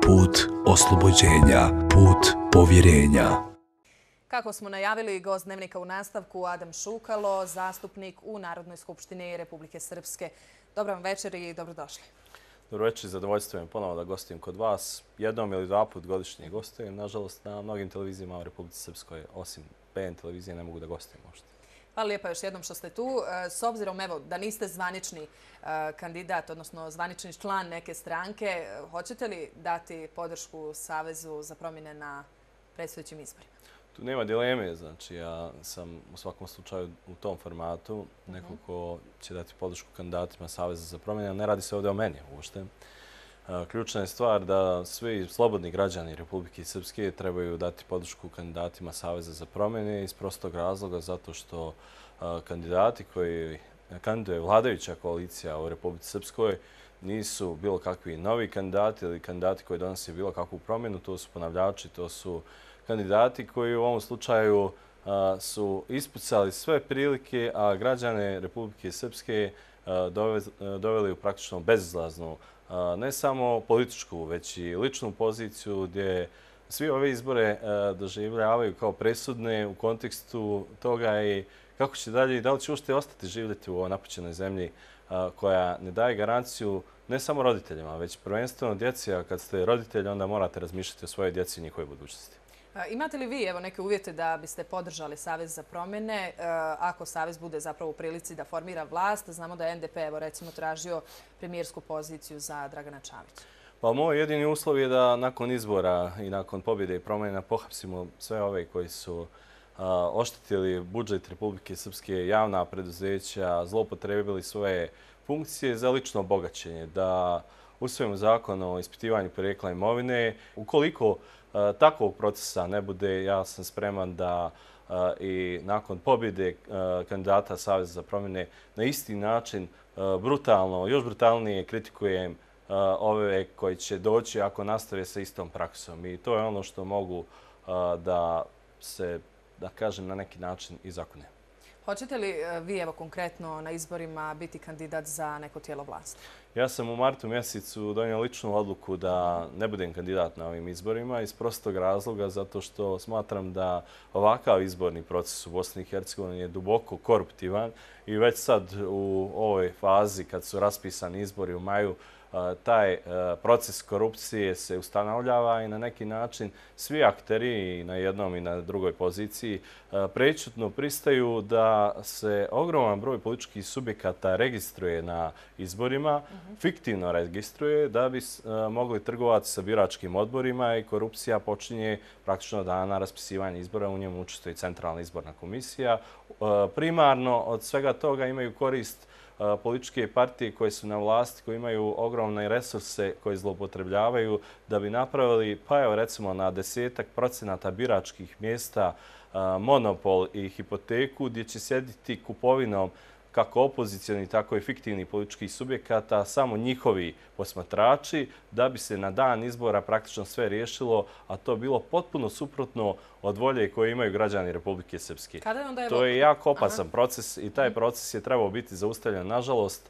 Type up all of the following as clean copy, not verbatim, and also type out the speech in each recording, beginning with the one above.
put oslobođenja, put povjerenja. Kako smo najavili, gost Dnevnika u nastavku Adam Šukalo, zastupnik u Narodnoj skupštini Republike Srpske. Dobar vam večer i dobrodošli. Dobro večer, zadovoljstvo je ponovo da gostim kod vas. Jednom ili dva put godišnje gostujem. Nažalost, na mnogim televizijama u Republici Srpskoj, osim PN televizije, ne mogu da gostujem možda. Hvala lijepa još jednom što ste tu. S obzirom da niste zvanični kandidat, odnosno zvanični član neke stranke, hoćete li dati podršku Savezu za promjene na predstojećim izborima? Tu nema dileme, znači ja sam u svakom slučaju u tom formatu, neko ko će dati podršku kandidatima Saveza za promjene, ne radi se ovdje o meni uopšte. Ključna je stvar da svi slobodni građani Republike Srpske trebaju dati podršku kandidatima Saveza za promjene iz prostog razloga zato što kandidati koji kandiduje vladajuća koalicija u Republici Srpskoj nisu bilo kakvi novi kandidati ili kandidati koji donose bilo kakvu promjenu, to su ponavljači, to su kandidati koji u ovom slučaju su ispucali sve prilike, a građane Republike Srpske doveli u praktično bezizlaznu ne samo političku, već i ličnu poziciju gdje svi ove izbore doživljavaju kao presudne u kontekstu toga i kako će dalje i da li će uopšte ostati živjeti u ovoj napućenoj zemlji koja ne daje garanciju ne samo roditeljima, već prvenstveno djeci, a kad ste roditelji onda morate razmišljati o svojoj djeci i njihove budućnosti. Imate li vi neke uvjete da biste podržali Savez za promjene ako Savez bude zapravo u prilici da formira vlast? Znamo da je NDP recimo tražio premijersku poziciju za Dragana Čovića. Pa moj jedini uslov je da nakon izbora i nakon pobjede i promjena pohapsimo sve ove koji su oštetili budžet Republike Srpske, javna preduzeća, zloupotrebili svoje funkcije za lično bogaćenje, da usvojimo zakon o ispitivanju porijekla imovine. Ukoliko takvog procesa ne bude, ja sam spreman da i nakon pobjede kandidata Saveza za promjene na isti način brutalno, još brutalnije kritikujem ove koji će doći ako nastave sa istom praksom. I to je ono što mogu da se, da kažem, na neki način i zakone. Hoćete li vi konkretno na izborima biti kandidat za neko tijelo vlasti? Ja sam u martu mjesecu donio ličnu odluku da ne budem kandidat na ovim izborima iz prostog razloga zato što smatram da ovakav izborni proces u Bosni i Hercegovini je duboko koruptivan i već sad u ovoj fazi kad su raspisani izbori u maju taj proces korupcije se ustanovljava i na neki način svi akteri na jednom i na drugoj poziciji prečutno pristaju da se ogroman broj političkih subjekata registruje na izborima, fiktivno registruje da bi mogli trgovati sa biračkim odborima i korupcija počinje praktično dana raspisivanja izbora. U njemu učestvuje Centralna izborna komisija. Primarno od svega toga imaju korist političke partije koje su na vlasti, koje imaju ogromne resurse koje zloupotrebljavaju da bi napravili, pa evo recimo na 10% biračkih mjesta monopol i hipoteku gdje će sjediti kupovinom kako opozicijoni, tako i fiktivni političkih subjekata, samo njihovi posmatrači, da bi se na dan izbora praktično sve riješilo, a to bilo potpuno suprotno od volje koje imaju građani Republike Srpske. To je jako opasan proces i taj proces je trebao biti zaustavljen, nažalost,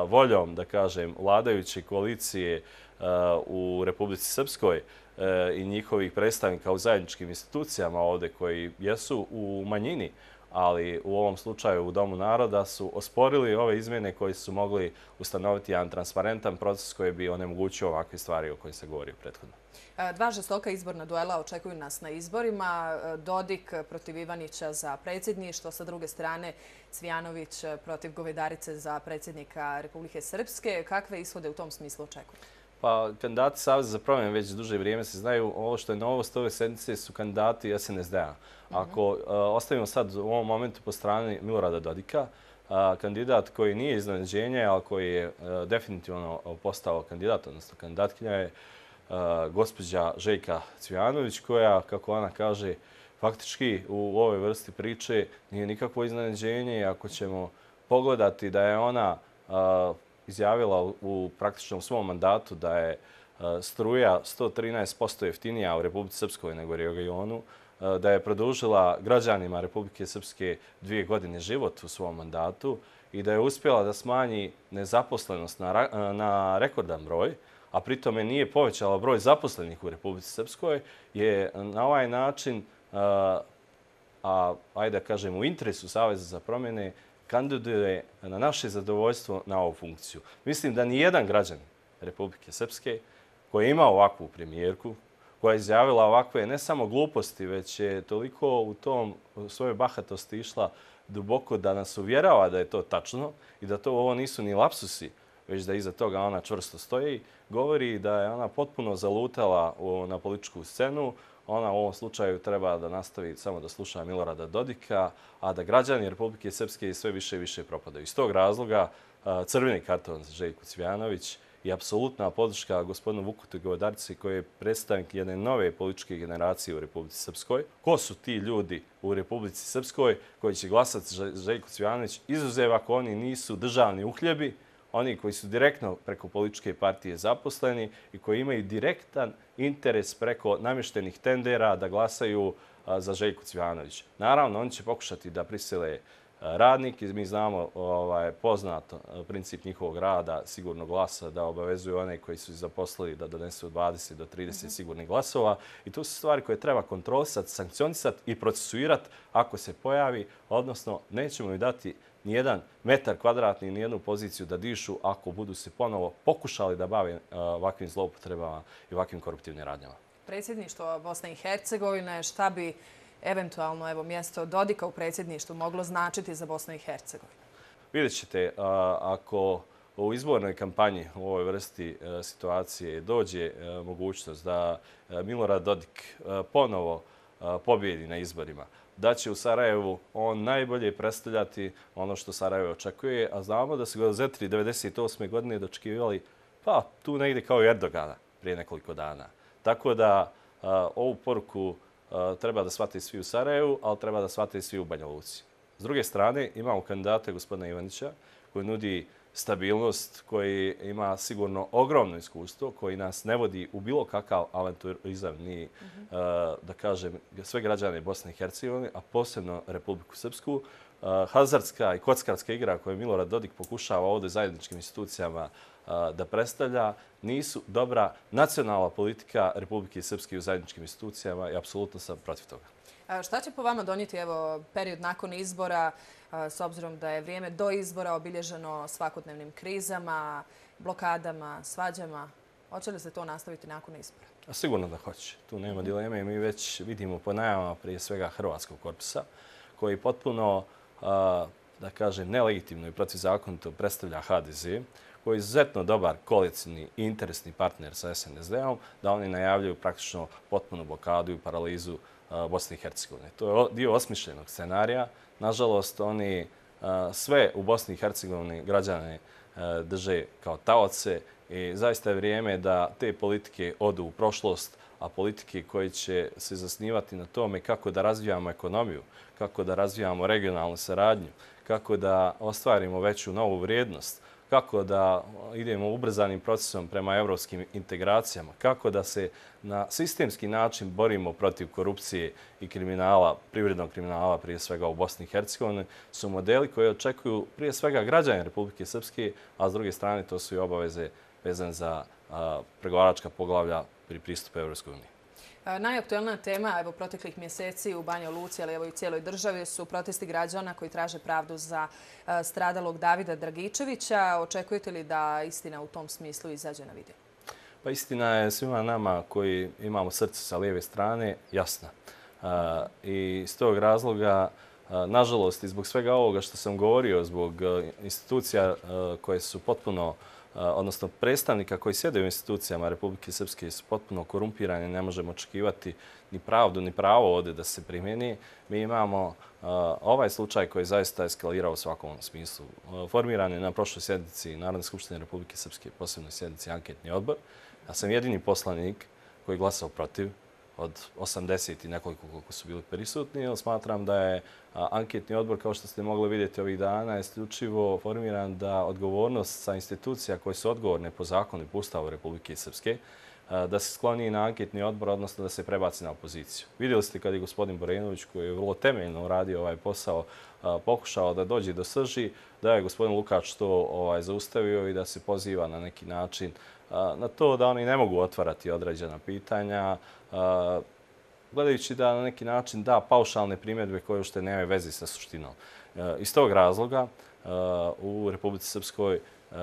voljom, da kažem, vladajuće koalicije u Republici Srpskoj i njihovih predstavnika u zajedničkim institucijama ovdje koji jesu u manjini, ali u ovom slučaju u Domu naroda su osporili ove izmjene koje su mogli ustanoviti jedan transparentan proces koji bi onemogućio ovakve stvari o kojima se govori prethodno. Dva žestoka izborna duela očekuju nas na izborima. Dodik protiv Ivanića za predsjedništvo, sa druge strane Cvijanović protiv Govedarice za predsjednika Republike Srpske. Kakve ishode u tom smislu očekuju? Pa, kandidati Saveza za promjene već duže vrijeme se znaju. Ovo što je novost ove sedmice su kandidati SNSD-a. Ako ostavimo sad u ovom momentu po strani Milorada Dodika, kandidat koji nije iznenađenje, ali koji je definitivno postao kandidat, odnosno kandidatkinja je gospođa Željka Cvijanović, koja, kako ona kaže, faktički u ovoj vrsti priče nije nikakvo iznenađenje. Ako ćemo pogledati da je ona izjavila u praktičnom svom mandatu da je struja 113% jeftinija u Republici Srpskoj nego u regionu, da je produžila građanima Republike Srpske 2 godine život u svom mandatu i da je uspjela da smanji nezaposlenost na rekordan broj, a pritome nije povećala broj zaposlenih u Republici Srpskoj, je na ovaj način, ajde da kažem, u interesu Saveza za promjene, kandiduje na naše zadovoljstvo na ovu funkciju. Mislim da nijedan građanin Republike Srpske koji ima ovakvu premijerku, koja je izjavila ovakve ne samo gluposti, već je toliko u svojoj bahatosti išla duboko da nas uvjerava da je to tačno i da ovo nisu ni lapsusi, već da iza toga ona čvrsto stoji, govori da je ona potpuno zalutala na političku scenu. Ona u ovom slučaju treba da nastavi samo da sluša Milorada Dodika, a da građani Republike Srpske sve više i više propadaju. Iz tog razloga crveni karton za Željku Cvijanović i apsolutna podrška gospodinu Vuku Govedarici koji je predstavnik jedne nove političke generacije u Republici Srpskoj. Ko su ti ljudi u Republici Srpskoj koji će glasati za Željku Cvijanović, izuzev ako oni nisu državni uhljebi, oni koji su direktno preko političke partije zaposleni i koji imaju direktan interes preko namještenih tendera da glasaju za Željku Cvijanović. Naravno, oni će pokušati da prisile radnike. Mi znamo poznato princip njihovog rada, sigurnog glasa, da obavezuju one koji su zaposlili da donesu 20 do 30 sigurnih glasova. I to su stvari koje treba kontrolisati, sankcionisati i procesuirati ako se pojavi, odnosno nećemo im dati nijedan metar kvadratni, nijednu poziciju da dišu ako budu se ponovo pokušali da bave ovakvim zloupotrebama i ovakvim koruptivnim radnjama. Predsjedništvo Bosne i Hercegovine, šta bi eventualno mjesto Dodika u predsjedništvu moglo značiti za Bosnu i Hercegovinu? Vidjet ćete, ako u izbornoj kampanji u ovoj vrsti situacije dođe mogućnost da Milorad Dodik ponovo pobjedi na izborima, da će u Sarajevu on najbolje predstavljati ono što Sarajevo očekuje, a znamo da su ga Zetri 1998. godine dočekivali tu negdje kao i Erdogana prije nekoliko dana. Tako da ovu poruku treba da shvate svi u Sarajevu, ali treba da shvate svi u Banja Luci. S druge strane, imamo kandidata gospodina Ivanića koji nudi stabilnost, koji ima sigurno ogromno iskustvo, koji nas ne vodi u bilo kakav avanturizam, ni, da kažem, sve građane Bosne i Hercegovine, a posebno Republiku Srpsku. Hazardska i kockarska igra koju Milorad Dodik pokušava ovdje zajedničkim institucijama da predstavlja, nisu dobra nacionalna politika Republike Srpske u zajedničkim institucijama i apsolutno sam protiv toga. Šta će po vama donijeti period nakon izbora, s obzirom da je vrijeme do izbora obilježeno svakodnevnim krizama, blokadama, svađama? Hoće li se to nastaviti nakon izbora? Sigurno da hoće. Tu nema dileme. Mi već vidimo po najavama prije svega Hrvatskog korpusa, koji potpuno, da kažem, nelegitimno i protivzakonito predstavlja HDZ, koji je izuzetno dobar koalicijni i interesni partner sa SNSD-om, da oni najavljaju praktično potpunu blokadu i paralizu Bosne i Hercegovine. To je dio osmišljenog scenarija. Nažalost, oni sve u Bosni i Hercegovini građane drže kao taoce i zaista je vrijeme da te politike odu u prošlost, a politike koje će se zasnivati na tome kako da razvijamo ekonomiju, kako da razvijamo regionalnu saradnju, kako da ostvarimo veću novu vrijednost, kako da idemo ubrzanim procesom prema evropskim integracijama, kako da se na sistemski način borimo protiv korupcije i kriminala, privrednog kriminala prije svega u Bosni i Hercegovini, su modeli koji očekuju prije svega građani Republike Srpske, a s druge strane to su i obaveze vezane za pregovaračka poglavlja pri pristupu Evropskoj uniji. Najaktuelnija tema proteklih mjeseci u Banja Luci, ali i u cijeloj državi su protesti građana koji traže pravdu za stradalog Davida Dragičevića. Očekujete li da istina u tom smislu izađe na vidjelo? Pa istina je svima nama koji imamo srce sa lijeve strane jasna. I iz tog razloga, nažalost, i zbog svega ovoga što sam govorio, zbog institucija koje su potpuno, odnosno predstavnika koji sjede u institucijama Republike Srpske su potpuno korumpirani, ne možemo očekivati ni pravdu, ni pravo ovdje da se primjeni. Mi imamo ovaj slučaj koji je zaista eskalirao u svakom smislu. Formiran je na prošloj sjednici Narodne skupštine Republike Srpske, posebnoj sjednici anketni odbor. Ja sam jedini poslanik koji je glasao protiv od 80 i nekoliko koliko su bili prisutni, jer smatram da je anketni odbor, kao što ste mogli vidjeti ovih dana, isključivo formiran da odgovornost sa institucija koje su odgovorne po zakonu i po Ustavu Republike Srpske, da se skloni na anketni odbor, odnosno da se prebaci na opoziciju. Vidjeli ste kad je gospodin Borenović, koji je vrlo temeljno uradio ovaj posao, pokušao da dođe do srži, da je gospodin Lukač to zaustavio i da se poziva na neki način na to da oni ne mogu otvarati određena pitanja, gledajući da na neki način da paušalne primjedbe koje uopšte nemaju veze sa suštinom. Iz tog razloga u Republici Srpskoj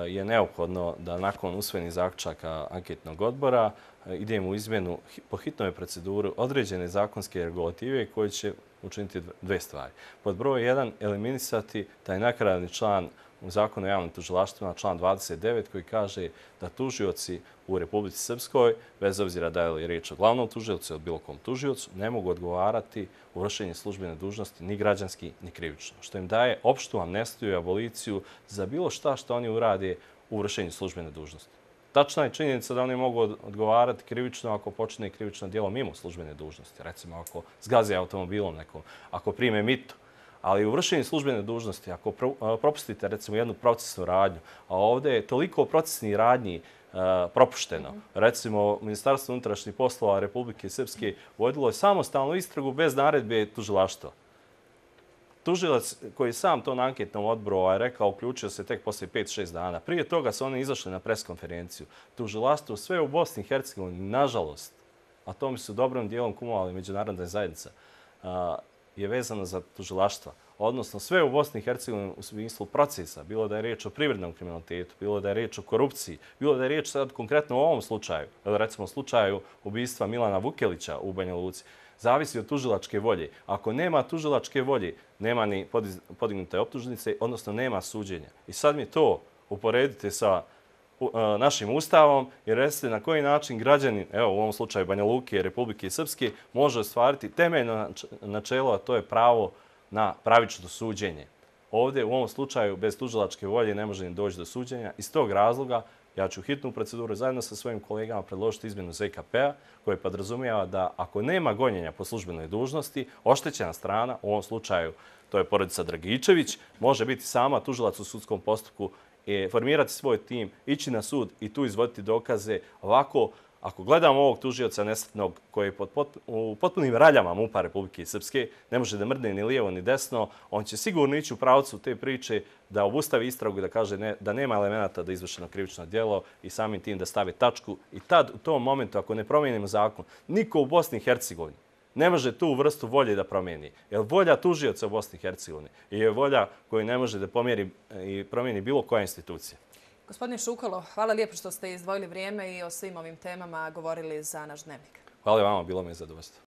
je neophodno da nakon usvojenih zaključaka anketnog odbora idemo u izmjenu po hitnoj proceduri određene zakonske regulative koje će učiniti dve stvari. Pod broj 1, eliminisati taj nakaradni član u Zakonu o javnim tužilaštvima, član 29, koji kaže da tužioci u Republici Srpskoj, bez obzira da li je riječ o glavnom tužiocu ili bilo kom tužiocu, ne mogu odgovarati u vršenju službene dužnosti ni građanski ni krivično, što im daje opštu amnestiju i aboliciju za bilo šta što oni urade u vršenju službene dužnosti. Tačna je činjenica da oni mogu odgovarati krivično ako počine krivično djelo mimo službene dužnosti. Recimo ako zgaze automobilom nekom, ako prime mito. Ali u vršenju službene dužnosti, ako propustite recimo jednu procesnu radnju, a ovdje je toliko procesnih radnji propušteno. Recimo, Ministarstvo unutrašnjih poslova Republike Srpske vodilo je samostalnu istragu bez naredbe tužilaštva. Tužilac koji je sam to na anketnom odboru rekao, uključio se tek poslije 5-6 dana. Prije toga su oni izašli na preskonferenciju. Tužilaštvo sve u Bosni i Hercegovini, nažalost, a tome su dobrom dijelom kumovali međunarodna zajednica, je vezano za tužilaštva. Odnosno sve u Bosni i Hercegovini u smislu procesa, bilo da je riječ o privrednom kriminalitetu, bilo da je riječ o korupciji, bilo da je riječ sad konkretno u ovom slučaju, ili recimo slučaju ubistva Milana Vukelića u Banja Luci, zavisi od tužilačke volje. Ako nema tužilačke volje, nema ni podignute optužnice, odnosno nema suđenja. I sad mi to uporedite sa našim ustavom i recite na koji način građanin, evo u ovom slučaju Banja Luke i Republike Srpske, može ostvariti temeljno načelo, a to je pravo na pravično suđenje. Ovdje u ovom slučaju bez tužilačke volje ne može ni doći do suđenja. Iz tog razloga ja ću hitnu proceduru zajedno sa svojim kolegama predložiti izmjenu ZKP-a koje podrazumijeva da ako nema gonjenja po službenoj dužnosti, oštećena strana, u ovom slučaju to je porodica Dragičević, može biti sama tužilac u sudskom postupku, formirati svoj tim, ići na sud i tu izvoditi dokaze. Ovako, ako gledamo ovog tužioca nesretnog koji je u potpunim raljama MUP-a Republike Srpske, ne može da mrdne ni lijevo ni desno, on će sigurno ići u pravcu te priče da obustavi istragu i da kaže da nema elemenata da je izvršeno krivično djelo i samim tim da stavi tačku. I tad, u tom momentu, ako ne promijenimo zakon, niko u Bosni i Hercegovini ne može tu vrstu volje da promijeni. Jer volja tužioca u Bosni i Hercegovini je volja koju ne može da pomjeri i promijeni bilo koja institucija. Gospodine Šukalo, hvala lijepo što ste izdvojili vrijeme i o svim ovim temama govorili za naš Dnevnik. Hvala vama, bilo mi je zadovoljstvo.